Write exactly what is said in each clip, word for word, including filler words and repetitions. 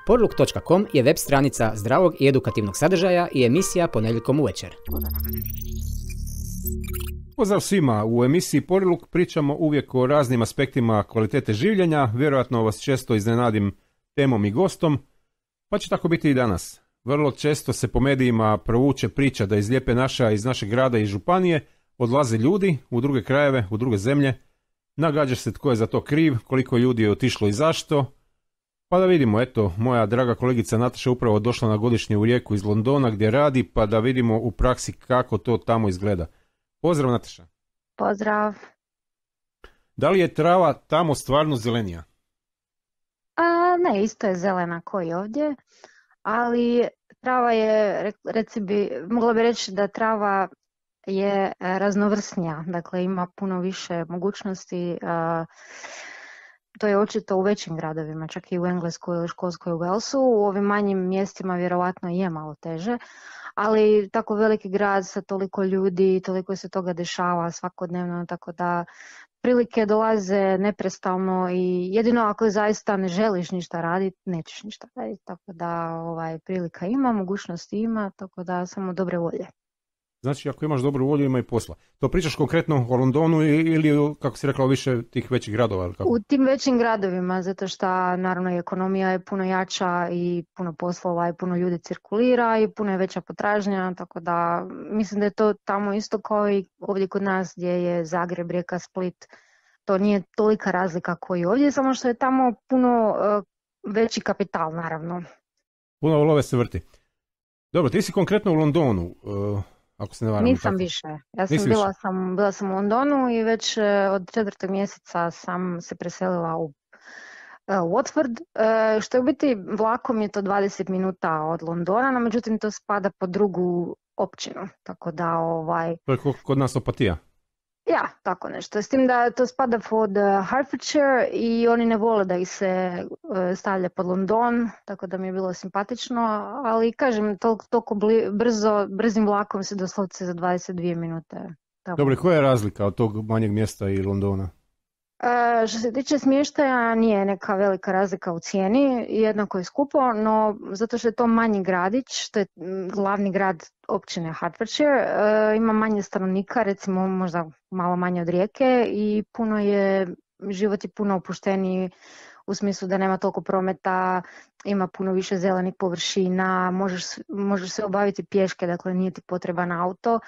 Porluk točka com je web stranica zdravog i edukativnog sadržaja i emisija ponedjeljkom uvečer. Pozdrav svima, u emisiji Porluk pričamo uvijek o raznim aspektima kvalitete življenja, vjerojatno vas često iznenadim temom i gostom, pa će tako biti i danas. Vrlo često se po medijima provuče priča da iz Lijepe naše, iz našeg grada i županije odlaze ljudi u druge krajeve, u druge zemlje, nagađa se tko je za to kriv, koliko ljudi je otišlo i zašto. Pa da vidimo, eto, moja draga kolegica Nataša upravo došla na godišnje u Rijeku iz Londona gdje radi, pa da vidimo u praksi kako to tamo izgleda. Pozdrav, Nataša. Pozdrav. Da li je trava tamo stvarno zelenija? A, ne, isto je zelena koji ovdje, ali trava je, reci bi, mogla bi reći da trava je raznovrsnija, dakle ima puno više mogućnosti. A, to je očito u većim gradovima, čak i u Engleskoj ili Škotskoj u Walesu. U ovim manjim mjestima vjerojatno je malo teže, ali tako veliki grad sa toliko ljudi, toliko se toga dešava svakodnevno, tako da prilike dolaze neprestalno i jedino ako zaista ne želiš ništa raditi, nećeš ništa raditi, tako da ovaj, prilika ima, mogućnosti ima, tako da samo dobre volje. Znači, ako imaš dobru volju, ima i posla. To pričaš konkretno o Londonu ili, kako si rekla, više tih većih gradova? Ili kako? U tim većim gradovima, zato što naravno ekonomija je puno jača i puno poslova i puno ljudi cirkulira i puno je veća potražnja, tako da mislim da je to tamo isto kao i ovdje kod nas gdje je Zagreb, Rijeka, Split. To nije tolika razlika kao i ovdje, samo što je tamo puno uh, veći kapital, naravno. Puno love se vrti. Dobro, ti si konkretno u Londonu. Uh... Ako se ne varam, Nisam tako. više. Ja sam bila, više. sam bila sam u Londonu i već od četvrtog mjeseca sam se preselila u uh, Watford, uh, što je u biti vlakom je to dvadeset minuta od Londona, no međutim to spada pod drugu općinu, tako da ovaj... To je kod nas Opatija. Ja, tako nešto. S tim da to spada pod Hertfordshire i oni ne vole da ih se stavlja pod London, tako da mi je bilo simpatično, ali kažem, toliko, toliko brzo, brzim vlakom se doslovce za dvadeset dvije minute. Tamo. Dobro, koja je razlika od tog manjeg mjesta i Londona? E, što se tiče smještaja, nije neka velika razlika u cijeni, jednako je skupo, no zato što je to manji gradić, to je glavni grad općine Hertfordshire, e, ima manje stanovnika, recimo možda malo manje od Rijeke i puno je, život je puno opušteniji u smislu da nema toliko prometa, ima puno više zelenih površina, možeš, možeš se obaviti pješke, dakle nije ti potreban auto.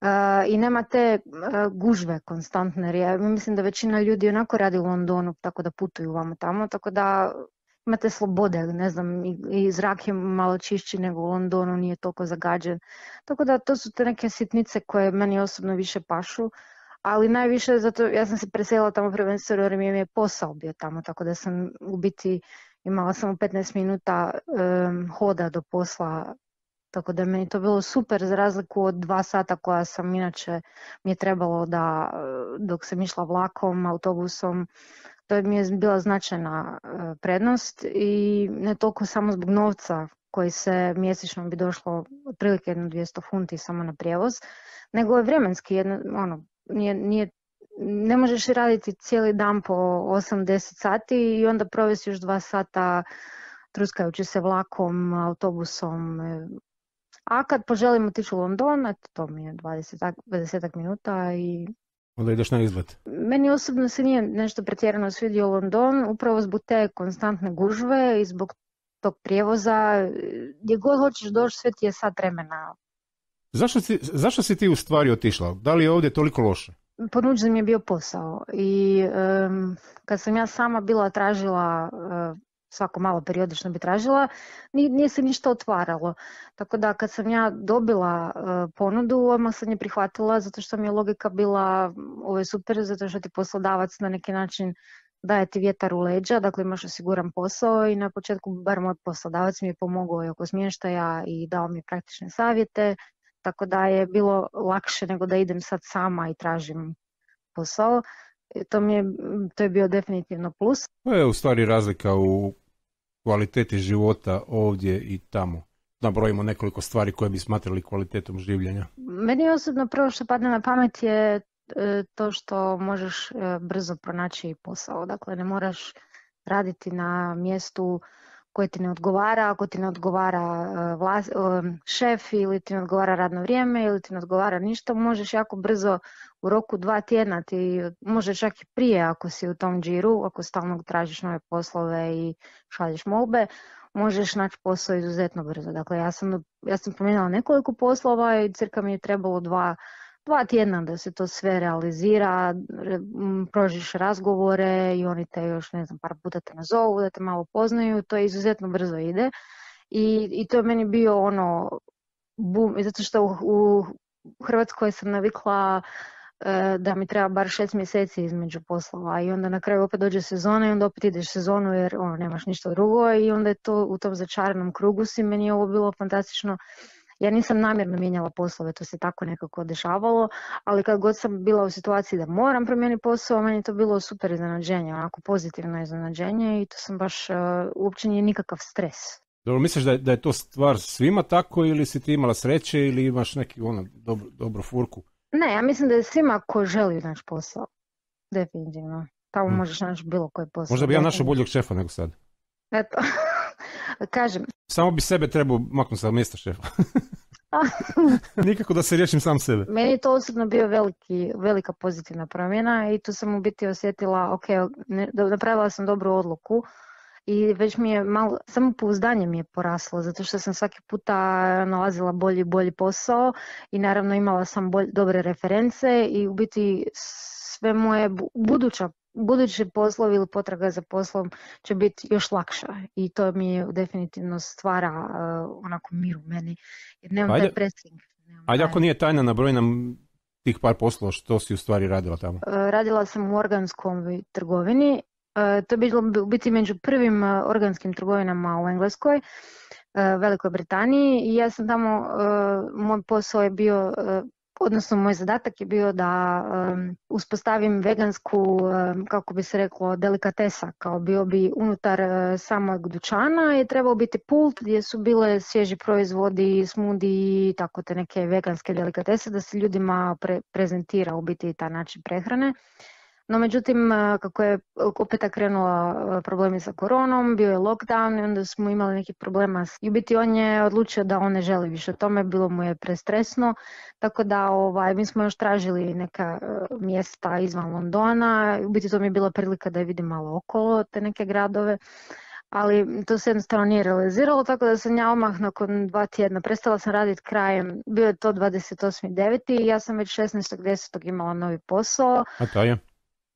Uh, i nema te uh, gužve konstantne, jer ja mislim da većina ljudi onako radi u Londonu, tako da putuju vamo tamo, tako da imate slobode, ne znam, i, i zrak je malo čišći nego u Londonu, nije toliko zagađen, tako da to su te neke sitnice koje meni osobno više pašu, ali najviše zato ja sam se preselila tamo prvenstveno jer mi je posao bio tamo, tako da sam u biti imala samo petnaest minuta um, hoda do posla. Tako da meni to bilo super za razliku od dva sata koja sam inače mi je trebalo da dok sam išla vlakom, autobusom, to mi je bila značajna prednost i ne toliko samo zbog novca koji se mjesečno bi došlo otprilike jedno dvjesto funti samo na prijevoz, nego je vremenski, jedno, ono, nije, nije, ne možeš raditi cijeli dan po osam do deset sati i onda provesti još dva sata truskajući se vlakom, autobusom. A kad poželim otići u London, eto, to mi je dvadeset minuta i... Onda ideš na izlet. Meni osobno se nije nešto pretjerano svidio London, upravo zbog te konstantne gužve i zbog tog prijevoza. Gdje god hoćeš doći, sve ti je sat vremena. Zašto si, zašto si ti u stvari otišla? Da li je ovdje toliko loše? Ponuđen mi je bio posao i um, kad sam ja sama bila tražila... Uh, svako malo periodično bi tražila, nije, nije se ništa otvaralo. Tako da kad sam ja dobila uh, ponudu, odmah sam je prihvatila zato što mi je logika bila ovo je super, zato što ti poslodavac na neki način daje ti vjetar u leđa, dakle imaš osiguran posao i na početku bar moj poslodavac mi je pomogao i oko smještaja i dao mi praktične savjete, tako da je bilo lakše nego da idem sad sama i tražim posao. To, mi je, to je bio definitivno plus. To je u stvari razlika u kvaliteti života ovdje i tamo. Nabrojimo nekoliko stvari koje bi smatrali kvalitetom življenja. Meni osobno prvo što padne na pamet je to što možeš brzo pronaći posao. Dakle, ne moraš raditi na mjestu koji ti ne odgovara, ako ti ne odgovara uh, vlas, uh, šef ili ti ne odgovara radno vrijeme ili ti ne odgovara ništa, možeš jako brzo u roku dva tjedna, ti može čak i prije ako si u tom džiru, ako stalno tražiš nove poslove i šalješ molbe, možeš naći posao izuzetno brzo. Dakle, ja sam, ja sam promijenila nekoliko poslova i cirka mi je trebalo dva, dva tjedna da se to sve realizira, prožiš razgovore i oni te još, ne znam, par puta te nazovu, da te malo poznaju, to izuzetno brzo ide. I, i to je meni bio ono, bum, zato što u, u Hrvatskoj sam navikla da mi treba bar šest mjeseci između poslova i onda na kraju opet dođe sezona i onda opet ideš sezonu jer ono, nemaš ništa drugo i onda je to u tom začaranom krugu si. Meni je ovo bilo fantastično. Ja nisam namjerno mijenjala poslove, to se tako nekako dešavalo, ali kad god sam bila u situaciji da moram promijeniti posao, meni je to bilo super iznenađenje, onako pozitivno iznenađenje i to sam baš, uh, uopće nije nikakav stres. Dobro, misliš da je, da je to stvar svima tako ili si ti imala sreće ili imaš neki ono dobro, dobro furku? Ne, ja mislim da je svima ko želi naći posao, definitivno. Tamo hmm. možeš naći bilo koji posao. Možda bi ja našao boljeg šefa nego sad. Eto, kažem. Samo bi sebe trebao maknuti sa mjesta šefa. Nikako da se riješim sam sebe. Meni je to osobno bio veliki, velika pozitivna promjena i tu sam u biti osjetila, ok, ne, napravila sam dobru odluku. I već mi je malo, samo pouzdanje mi je poraslo, zato što sam svaki puta nalazila bolji i bolji posao i naravno imala sam bolj, dobre reference i u biti sve moje buduća, budući poslovi ili potraga za poslom će biti još lakša i to mi je definitivno stvara uh, onako mir u meni jer nemam taj pressing. Ajde ako nije tajna, nabroj nam tih par poslova što si u stvari radila tamo. Uh, radila sam u organskoj trgovini. To je bilo biti među prvim organskim trgovinama u Engleskoj, Velikoj Britaniji i ja sam tamo, moj posao je bio, odnosno moj zadatak je bio da uspostavim vegansku, kako bi se reklo, delikatesa, kao bio bi unutar samog dućana je trebao biti pult gdje su bile svježi proizvodi, smudi i tako te neke veganske delikatese da se ljudima pre- prezentira u biti taj način prehrane. No međutim, kako je opet krenula problemi sa koronom, bio je lockdown i onda smo imali nekih problema. I u biti on je odlučio da on ne želi više tome, bilo mu je prestresno, tako da ovaj, mi smo još tražili neka mjesta izvan Londona. U biti to mi je bila prilika da je vidim malo okolo te neke gradove, ali to se jednostavno nije realiziralo, tako da sam ja odmah nakon dva tjedna prestala sam raditi krajem, bio je to dvadeset osmi deveti i ja sam već šesnaestog desetog imala novi posao. A to je?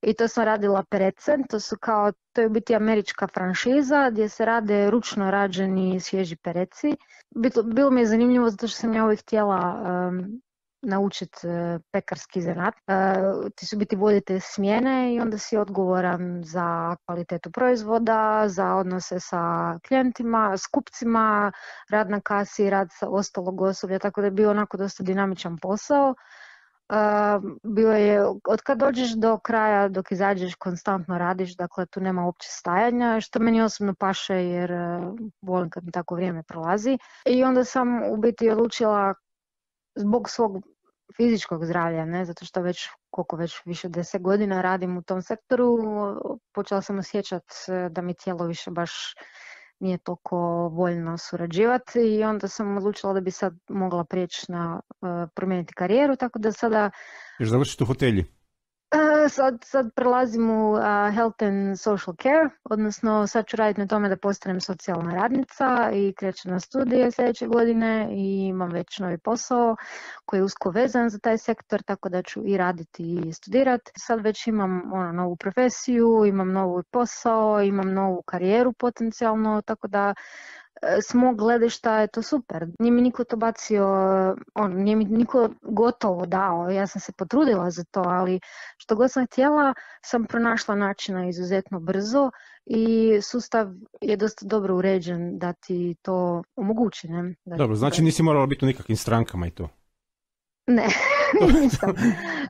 I to sam radila Perecen, to su kao, to je u biti američka franšiza gdje se rade ručno rađeni svježi pereci. Bilo, bilo mi je zanimljivo zato što sam ja uvijek htjela um, naučiti uh, pekarski zanat. Uh, ti su biti vodite smjene i onda si odgovoran za kvalitetu proizvoda, za odnose sa klijentima, s kupcima, rad na kasi, rad sa ostalog osoblja, tako da je bio onako dosta dinamičan posao. Uh, bio je, od kad dođeš do kraja, dok izađeš, konstantno radiš, dakle tu nema uopće stajanja, što meni osobno paše jer uh, volim kad mi tako vrijeme prolazi. I onda sam u biti odlučila zbog svog fizičkog zdravlja, ne, zato što već, koliko već više deset godina radim u tom sektoru, počela sam osjećati da mi tijelo više baš nije toliko voljno surađivati i onda sam odlučila da bi sad mogla prijeći na uh, promijeniti karijeru, tako da sada... Još završiti u hotelji? Uh, sad, sad prelazim u uh, Health and Social Care, odnosno sad ću raditi na tome da postanem socijalna radnica i krećem na studije sljedeće godine i imam već novi posao koji je usko vezan za taj sektor, tako da ću i raditi i studirati. Sad već imam ono, novu profesiju, imam novi posao, imam novu karijeru potencijalno, tako da s mog gledišta je to super. Nije mi niko to bacio, on, nije mi niko gotovo dao, ja sam se potrudila za to, ali što god sam htjela sam pronašla načina izuzetno brzo i sustav je dosta dobro uređen da ti to omogući. Ne? Da dobro, znači nisi morala biti u nikakvim strankama i to? Ne, nisam.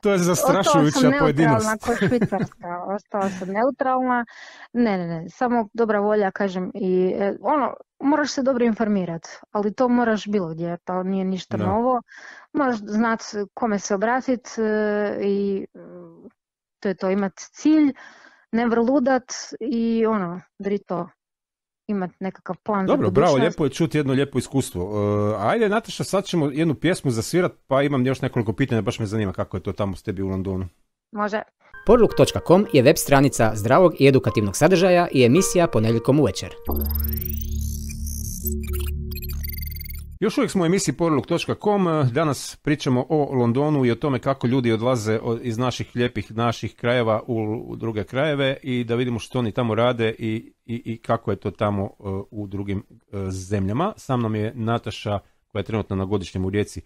To je zastrašujuća pojedinost. Ostala sam neutralna ko Švicarska, ostala sam neutralna. Ne, ne, ne, samo dobra volja, kažem, i ono, moraš se dobro informirati, ali to moraš bilo gdje, to nije ništa da. novo. Moraš znati kome se obratiti i to je to, imati cilj, ne vrludat i ono, dri to. imati nekakav plan Dobro, za bravo, budućnost. lijepo je čuti jedno lijepo iskustvo. Uh, ajde, Nataša, sad ćemo jednu pjesmu zasvirat, pa imam još nekoliko pitanja, baš me zanima kako je to tamo s tebi u Londonu. Može. Porluk točka com je web stranica zdravog i edukativnog sadržaja i emisija ponedjeljkom uvečer. Još uvijek smo u emisiji porluk točka com, danas pričamo o Londonu i o tome kako ljudi odlaze iz naših lijepih naših krajeva u druge krajeve i da vidimo što oni tamo rade i, i, i kako je to tamo uh, u drugim uh, zemljama. Sa mnom je Nataša koja je trenutno na godišnjem u Rijeci.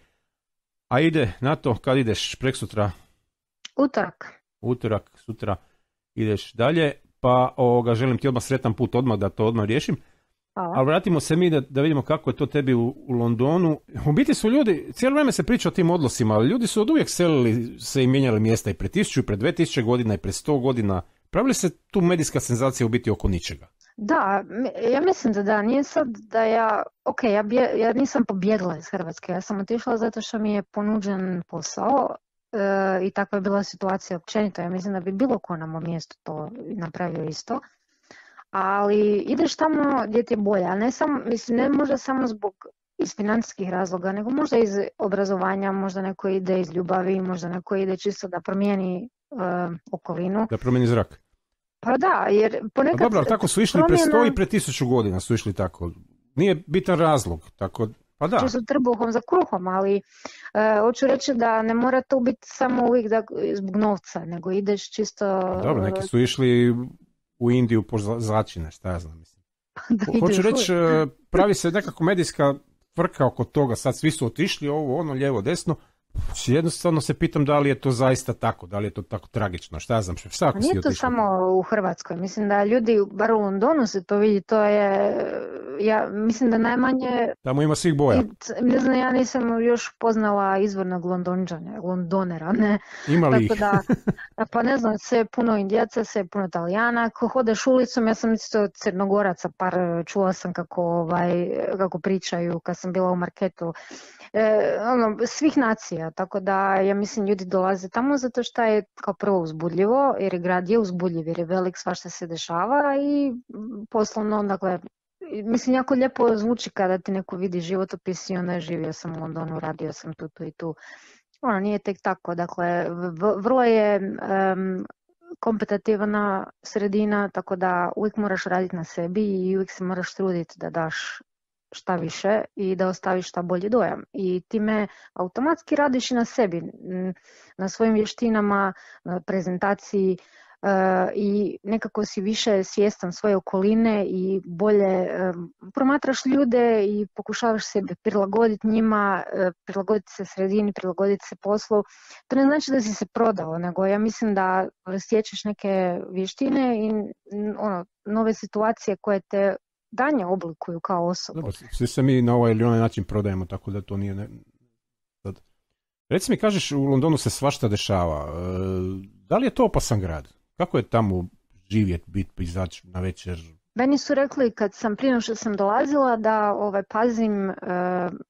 A ide na to, kad ideš preksutra? Utorak. Utorak, sutra ideš dalje, pa ovoga, želim ti odmah sretan put, odmah da to odmah riješim. Hvala. Ali vratimo se mi da, da vidimo kako je to tebi u, u Londonu. U biti su ljudi, cijelo vrijeme se priča o tim odlosima, ali ljudi su od uvijek selili se i mijenjali mjesta i pred tisuću, i pred dve tisuće godina, i pred sto godina. Pravili se tu medijska senzacija u biti oko ničega? Da, ja mislim da da, nije sad da ja, ok, ja, bje, ja nisam pobjegla iz Hrvatske, ja sam otišla zato što mi je ponuđen posao e, i takva je bila situacija općenito. Ja mislim da bi bilo ko na mom mjestu to napravio isto. Ali ideš tamo gdje ti je bolje, a ne samo, mislim, ne možda samo zbog iz financijskih razloga, nego možda iz obrazovanja, možda neko ide iz ljubavi, možda neko ide čisto da promijeni uh, okolinu. Da promijeni zrak. Pa da, jer ponekad... A dobro, ali tako su išli promjena... pre sto i pre tisuću godina su išli tako. Nije bitan razlog, tako... Pa da. Čisto trbuhom za kruhom, ali uh, hoću reći da ne mora to biti samo uvijek da, zbog novca, nego ideš čisto... Pa dobro, neki su išli u Indiju po začine, šta ja znam, mislim. Hoću reći, pravi se nekako medijska frka oko toga, sad svi su otišli, ovo, ono, lijevo, desno. Jednostavno se pitam da li je to zaista tako, da li je to tako tragično, šta ja znam, šta ako si nije to otišli? Samo u Hrvatskoj, mislim da ljudi, bar u Londonu se to vidi, to je, ja mislim da najmanje... Tamo ima svih boja. Ne znam, ja nisam još poznala izvornog Londonđana, Londonera, ne? Ima li ih? Da, pa ne znam, sve je puno Indijaca, sve je puno Italijana, ako hodeš ulicom, ja sam isto Crnogoraca, par čula sam kako, ovaj, kako pričaju kad sam bila u marketu, e, ono, svih nacija. Tako da, ja mislim, ljudi dolaze tamo zato što je kao prvo uzbudljivo, jer je grad je uzbudljiv, jer je velik, svašta se dešava i poslovno, dakle, mislim, jako lijepo zvuči kada ti neko vidi životopis i onda živio sam u Londonu, radio sam tu, tu i tu. Ono, nije tek tako, dakle, vrlo je um, kompetitivna sredina, tako da uvijek moraš raditi na sebi i uvijek se moraš truditi da daš šta više i da ostaviš šta bolji dojam. I time automatski radiš i na sebi, na svojim vještinama, na prezentaciji uh, i nekako si više svjestan svoje okoline i bolje um, promatraš ljude i pokušavaš se prilagoditi njima, uh, prilagoditi se sredini, prilagoditi se poslu. To ne znači da si se prodao, nego ja mislim da stječeš neke vještine i ono, nove situacije koje te danje oblikuju kao osobu. Dobro, svi se mi na ovaj ili onaj način prodajemo, tako da to nije... Ne... Sad. Reci mi, kažeš, u Londonu se svašta dešava. E, da li je to opasan grad? Kako je tamo živjeti, biti, izaći na večer? Meni su rekli kad sam prije što sam dolazila da ovaj, pazim uh,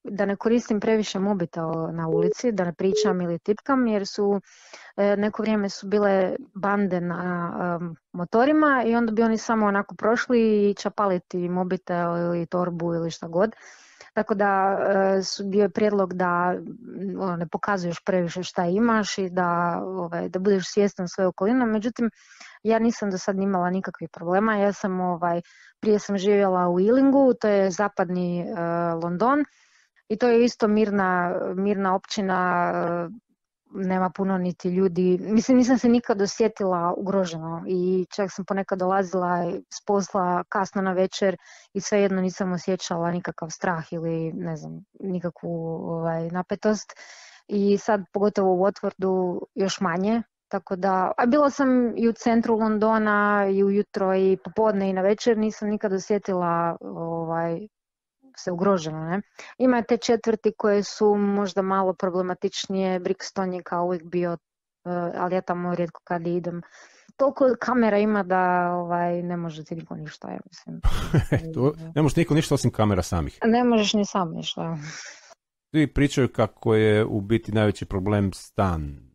da ne koristim previše mobitel na ulici, da ne pričam ili tipkam, jer su uh, neko vrijeme su bile bande na um, motorima i onda bi oni samo onako prošli i čapaliti mobitel ili torbu ili šta god. Tako da uh, su bio je prijedlog da ono, ne pokazuješ previše šta imaš i da, ovaj, da budeš svjestan svoje okoline. Međutim, ja nisam do sad imala nikakvih problema. Ja sam, ovaj, prije sam živjela u Ealingu, to je zapadni uh, London i to je isto mirna, mirna općina, uh, nema puno niti ljudi. Mislim, nisam se nikad osjetila ugroženo i čak sam ponekad dolazila s posla kasno na večer i svejedno nisam osjećala nikakav strah ili ne znam, nikakvu ovaj, napetost. I sad pogotovo u Watfordu još manje. Tako da, a bila sam i u centru Londona i ujutro i popodne i na večer, nisam nikad osjetila ovaj, se ugroženo. Ne? Ima te četvrti koje su možda malo problematičnije, Brixton je kao uvijek bio, ali ja tamo rijetko kad idem. Toliko kamera ima da ovaj, ne može ti niko ništa, ja mislim. to, ne može niko ništa osim kamera samih. Ne možeš ni sam ništa. Svi pričaju kako je u biti najveći problem stan.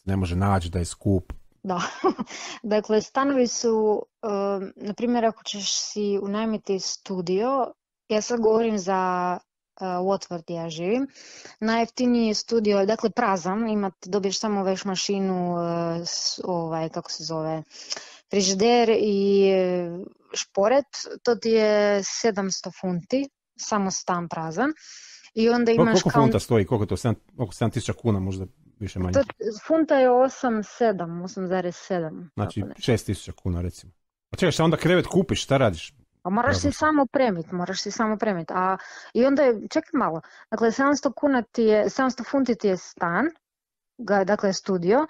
Ne može naći, da je skup. Da, dakle stanovi su, uh, na primjer ako ćeš si unajmiti studio, ja sad govorim za uh, Watford gdje ja živim, najjeftiniji je studio, dakle prazan, imat, dobiješ samo veš mašinu, uh, s, ovaj, kako se zove, frižider i uh, šporet, to ti je sedamsto funti, samo stan prazan. I onda imaš koliko kao... funta stoji, koliko to, sedam, oko sedam tisuća kuna možda više manje? To, funta je osam sedam, osam zarez sedam. Znači šest tisuća kuna recimo. A čekaj, šta onda krevet kupiš, šta radiš? A moraš si samo premit, moraš si samo premit. A, I onda je, čekaj malo, dakle sedamsto kuna ti je, sedamsto funti ti je stan, ga, dakle studio,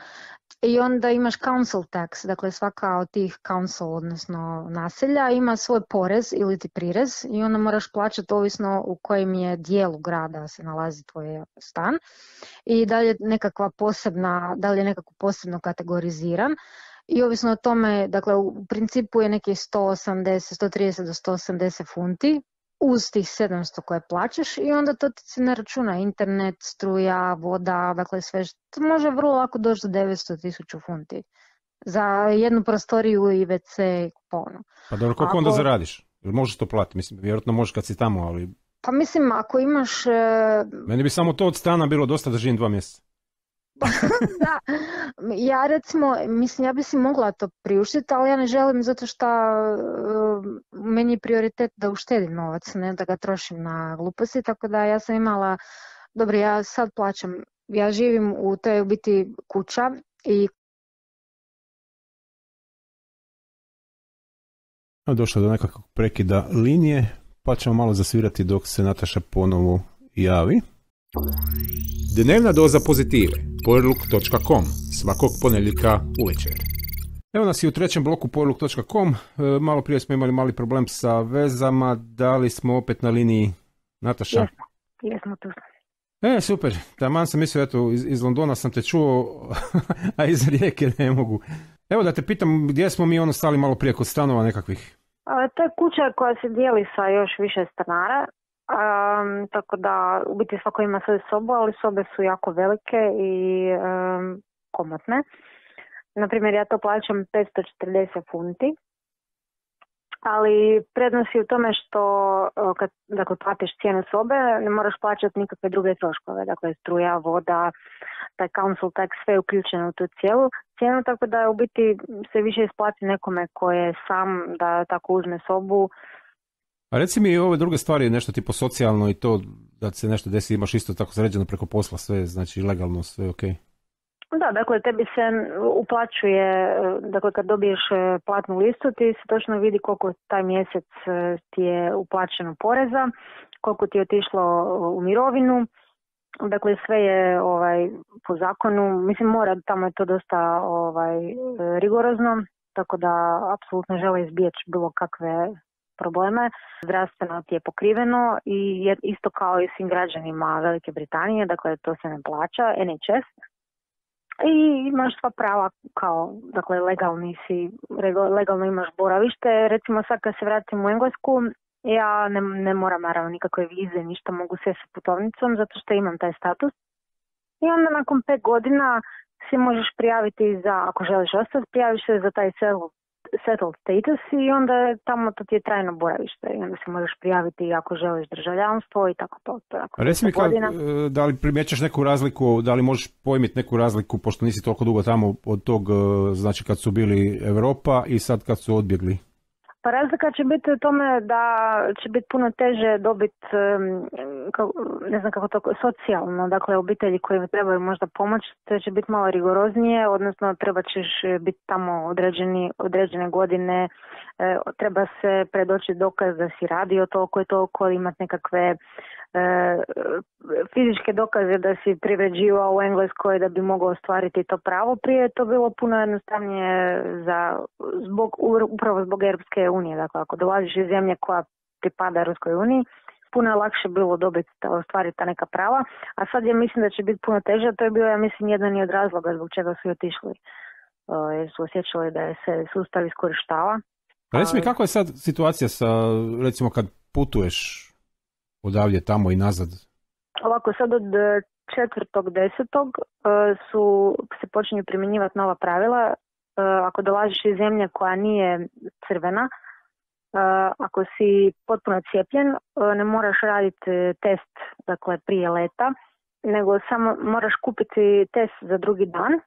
i onda imaš council tax, dakle svaka od tih council, odnosno naselja, ima svoj porez ili ti prirez i onda moraš plaćati ovisno u kojem je dijelu grada se nalazi tvoj stan i da li je nekakva posebna, da li je nekako posebno kategoriziran. I ovisno o tome, dakle u principu je neki sto osamdeset, sto trideset do sto osamdeset funti uz tih sedamsto koje plaćaš i onda to ti se ne računa internet, struja, voda, dakle sve što može vrlo lako doći do devetsto tisuća funti za jednu prostoriju i ve ce i kupovnu. Pa dobro, koliko ako... onda zaradiš? Jer možeš to platiti, mislim, vjerojatno možeš kad si tamo, ali... Pa mislim, ako imaš... E... Meni bi samo to od stana bilo dosta da živim dva mjeseca. Da, ja recimo, mislim, ja bi si mogla to priuštiti, ali ja ne želim zato što uh, meni je prioritet da uštedim novac, ne da ga trošim na gluposti, tako da ja sam imala, dobro, ja sad plaćam, ja živim u toj u biti kuća i... Došlo do nekakvog prekida linije, pa ćemo malo zasvirati dok se Nataša ponovo javi. Dnevna doza pozitive, powerlook točka com, svakog ponedjeljka uvečer. Evo nas i u trećem bloku powerlook točka com. E, malo prije smo imali mali problem sa vezama, da li smo opet na liniji, Nataša? Jesmo, jesmo tu. E, super, taman sam mislio, eto, iz, iz Londona sam te čuo, a iz Rijeke ne mogu. Evo da te pitam, gdje smo mi ono stali malo prije kod stanova nekakvih? A, to je kuća koja se dijeli sa još više stanara. Um, tako da u biti svako ima svoju sobu, ali sobe su jako velike i um, komotne. Naprimjer, ja to plaćam petsto četrdeset funti, ali prednost je u tome što kad dakle, platiš cijenu sobe ne moraš plaćati nikakve druge troškove, dakle struja, voda, taj council tax, sve je uključeno u tu cijelu cijenu, tako da u biti se više isplati nekome ko je sam da tako uzme sobu. A reci mi i ove druge stvari, nešto tipo socijalno i to da se nešto desi, imaš isto tako sređeno preko posla, sve, znači legalno, sve ok? Da, dakle tebi se uplaćuje, dakle kad dobiješ platnu listu ti se točno vidi koliko taj mjesec ti je uplaćeno poreza, koliko ti je otišlo u mirovinu, dakle sve je ovaj, po zakonu, mislim mora, tamo je to dosta ovaj, rigorozno, tako da apsolutno žele izbjeći bilo kakve probleme. Zdravstveno ti je pokriveno i isto kao i svim građanima Velike Britanije, dakle to se ne plaća, en hač es. I imaš sva prava kao, dakle legalni si, legalno imaš boravište. Recimo sad kad se vratim u Englesku, ja ne, ne moram naravno nikakve vize, ništa, mogu sve sa putovnicom zato što imam taj status. I onda nakon pet godina si možeš prijaviti za, ako želiš ostati, prijaviš se za taj settled status i onda tamo to ti je trajno boravište i onda se možeš prijaviti ako želiš državljanstvo i tako to. to Reci mi, kad, da li primjećaš neku razliku, da li možeš pojmiti neku razliku, pošto nisi toliko dugo tamo od tog, znači kad su bili Europa i sad kad su odbjegli? Pa razlika će biti u tome da će biti puno teže dobiti, ne znam kako to, socijalno, dakle obitelji koji trebaju možda pomoć, to će biti malo rigoroznije, odnosno treba ćeš biti tamo određeni, određene godine, treba se predoći dokaz da si radio toliko i toliko, imati nekakve fizičke dokaze da si privređivao u Engleskoj da bi mogao ostvariti to pravo. Prije je to bilo puno jednostavnije za, zbog, upravo zbog Europske unije. Dakle, ako dolaziš iz zemlje koja pripada Europskoj uniji, puno je lakše bilo dobiti, ostvariti ta neka prava, a sad ja mislim da će biti puno teže. To je bio, ja mislim, jedan od razloga zbog čega su otišli, jer su osjećali da se sustav iskorištava. Reci mi, kako je sad situacija sa, recimo, kad putuješ odavdje tamo i nazad? Ovako, sad od četvrtog desetog su se počinju primjenjivati nova pravila ako dolaziš iz zemlje koja nije crvena, ako si potpuno cijepljen, ne moraš raditi test, dakle, prije leta, nego samo moraš kupiti test za drugi dan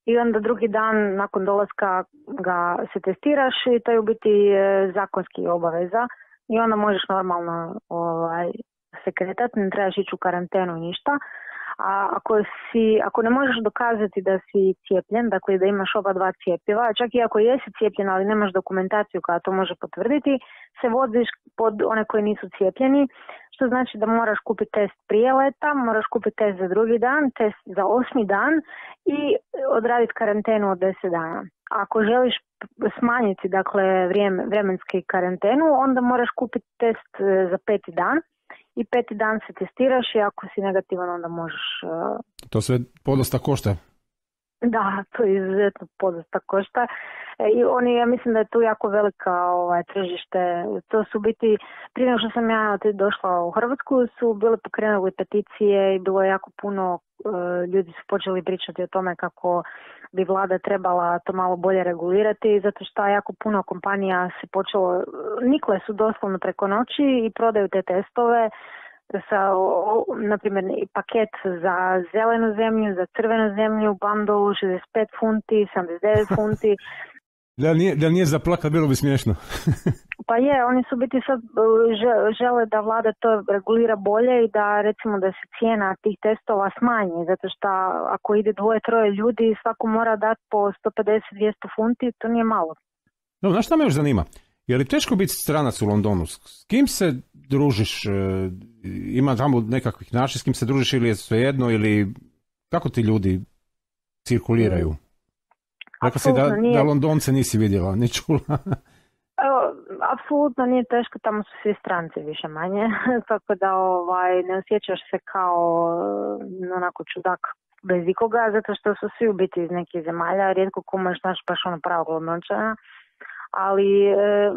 i onda drugi dan nakon dolaska ga se testiraš i to je u biti zakonski obaveza i onda možeš normalno ovaj, se kretati, ne trebaš ići u karantenu i ništa. A ako, si, ako ne možeš dokazati da si cijepljen, dakle da imaš oba dva cjepiva, čak i ako jesi cijepljen, ali nemaš dokumentaciju koja to može potvrditi, se voziš pod one koji nisu cijepljeni, što znači da moraš kupiti test prije leta, moraš kupiti test za drugi dan, test za osmi dan i odraditi karantenu od deset dana. Ako želiš smanjiti, dakle, vrijeme, vremenski karantenu, onda moraš kupiti test za peti dan. I peti dan se testiraš i ako si negativan onda možeš... Uh... To sve podosta košta. Da, to je izuzetno podosta košta. E, I oni, ja mislim da je tu jako velika ovaj, tržište. To su biti, prije nego što sam ja došla u Hrvatsku, su bile pokrenuli peticije i bilo je jako puno, uh, ljudi su počeli pričati o tome kako bi vlada trebala to malo bolje regulirati, zato što jako puno kompanija se počelo, nikle su doslovno preko noći i prodaju te testove sa, na primjer, paket za zelenu zemlju, za crvenu zemlju, bundle šezdeset pet funti, sedamdeset devet funti. Da nije, da nije za plakat, bilo bi smiješno. Pa je, oni su biti sad žele da vlada to regulira bolje i da recimo da se cijena tih testova smanji, zato što ako ide dvoje, troje ljudi, svako mora dati po sto pedeset do dvjesto funti, to nije malo. No, znaš šta me još zanima? Je li teško biti stranac u Londonu? S kim se družiš? Ima tamo nekakvih način s kim se družiš ili je svejedno ili kako ti ljudi cirkuliraju? Rekla si da, nije... da Londonce nisi vidjela, ni čula. Evo, apsolutno nije teško, tamo su svi stranci više manje, tako da ovaj, ne osjećaš se kao onako čudak bez ikoga, zato što su svi u biti iz nekih zemalja, rijetko ko možeš naći baš ono pravog Londončana, ali e,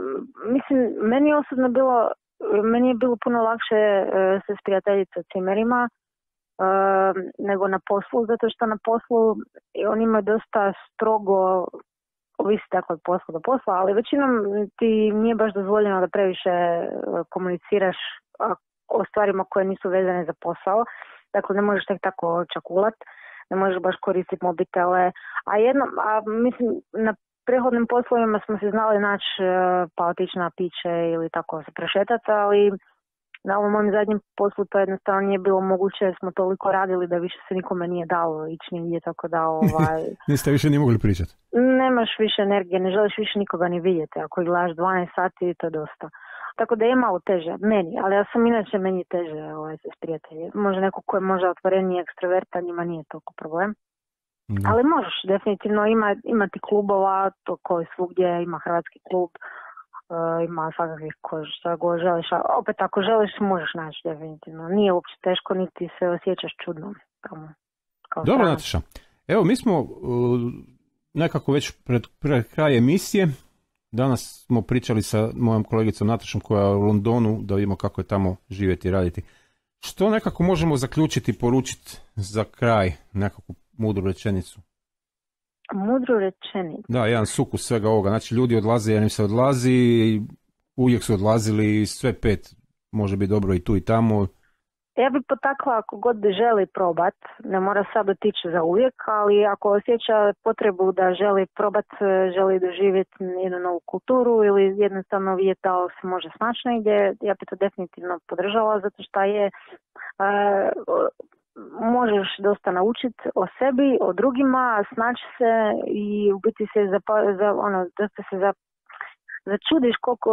mislim, meni osobno bilo, meni je bilo puno lakše e, se sprijateljiti sa cimerima, Uh, nego na poslu, zato što na poslu oni imaju dosta strogo, ovisi dakle od posla do posla, ali većinom ti nije baš dozvoljeno da previše komuniciraš o stvarima koje nisu vezane za posao, dakle ne možeš tek tako čakulat, ne možeš baš koristiti mobitele, a jedno, a mislim na prethodnim poslovima smo se znali naći pa otići na piće ili tako se prešetati, ali na ovom mom zadnjem poslu to jednostavno nije bilo moguće, jer smo toliko radili da više se nikome nije dalo ići nigdje, tako da ovaj... Niste više ni mogli pričati? Nemaš više energije, ne želiš više nikoga ni vidjeti, ako gledaš dvanaest sati to je dosta. Tako da je malo teže, meni, ali ja sam inače meni teže ovaj, se s prijatelji. Može neko ko je možda otvoreniji ekstroverta, njima nije toliko problem. Da. Ali možeš, definitivno ima, imati klubova, to koji svugdje, ima hrvatski klub, Uh, ima svakakvih ko šta go želiš, a opet ako želiš možeš naći definitivno. Nije uopće teško, niti se osjećaš čudno. Kao, kao Dobro, Nataša. Evo, mi smo uh, nekako već pred, pred kraj emisije. Danas smo pričali sa mojom kolegicom Natašom koja je u Londonu, da vidimo kako je tamo živjeti i raditi. Što nekako možemo zaključiti, poručiti za kraj, nekakvu mudru rečenicu? Mudru rečenicu. Da, jedan sukus svega ovoga. Znači, ljudi odlaze jer im se odlazi, uvijek su odlazili, sve pet može biti dobro i tu i tamo. Ja bih potakla ako god želi probat, ne mora sad otići za uvijek, ali ako osjeća potrebu da želi probat, želi doživjeti jednu novu kulturu ili jednostavno vidjeti da se može snaći negdje, ja bih to definitivno podržala, zato što je... Uh, možeš dosta naučiti o sebi, o drugima, snaći se i u biti se za, za ono, dosta se za, začudiš koliko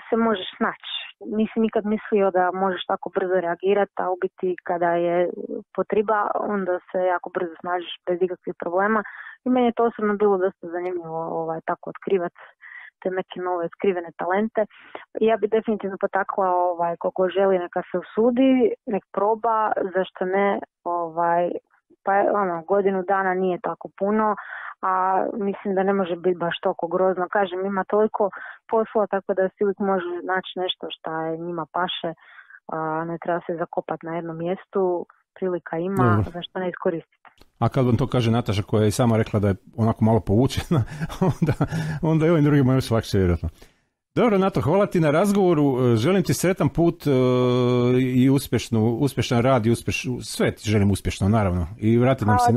se možeš snaći. Nisi nikad mislio da možeš tako brzo reagirati, a u biti kada je potreba, onda se jako brzo snažiš bez ikakvih problema. I meni je to osobno bilo dosta zanimljivo ovaj, tako otkrivati te neke nove skrivene talente. Ja bi definitivno potakla ovaj, koliko želi neka se usudi, nek proba, zašto ne, ovaj, pa ono, godinu dana nije tako puno, a mislim da ne može biti baš toliko grozno. Kažem, ima toliko posla, tako da si uvijek može naći nešto što je njima paše, a ne treba se zakopati na jednom mjestu, prilika ima, Dobro. Zašto ne iskoristiti. A kad vam to kaže Nataša koja je i sama rekla da je onako malo povučena, onda, onda i ovim drugima još lakše vjerojatno. Dobro, Nato, hvala ti na razgovoru, želim ti sretan put uh, i uspješnu, uspješan rad i uspješ, sve ti želim uspješno, naravno. I vrati nam se.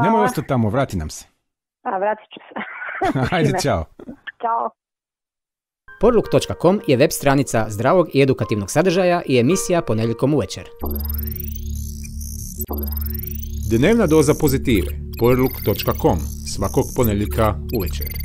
Nemoj ostati tamo, vrati nam se. A, vratit ću se. Ajde, čao. Ćao. Porluk točka com je web stranica zdravog i edukativnog sadržaja i emisija ponedjeljkom uvečer. Dnevna doza pozitive. Porluk točka com svakog ponedjeljka uvečer.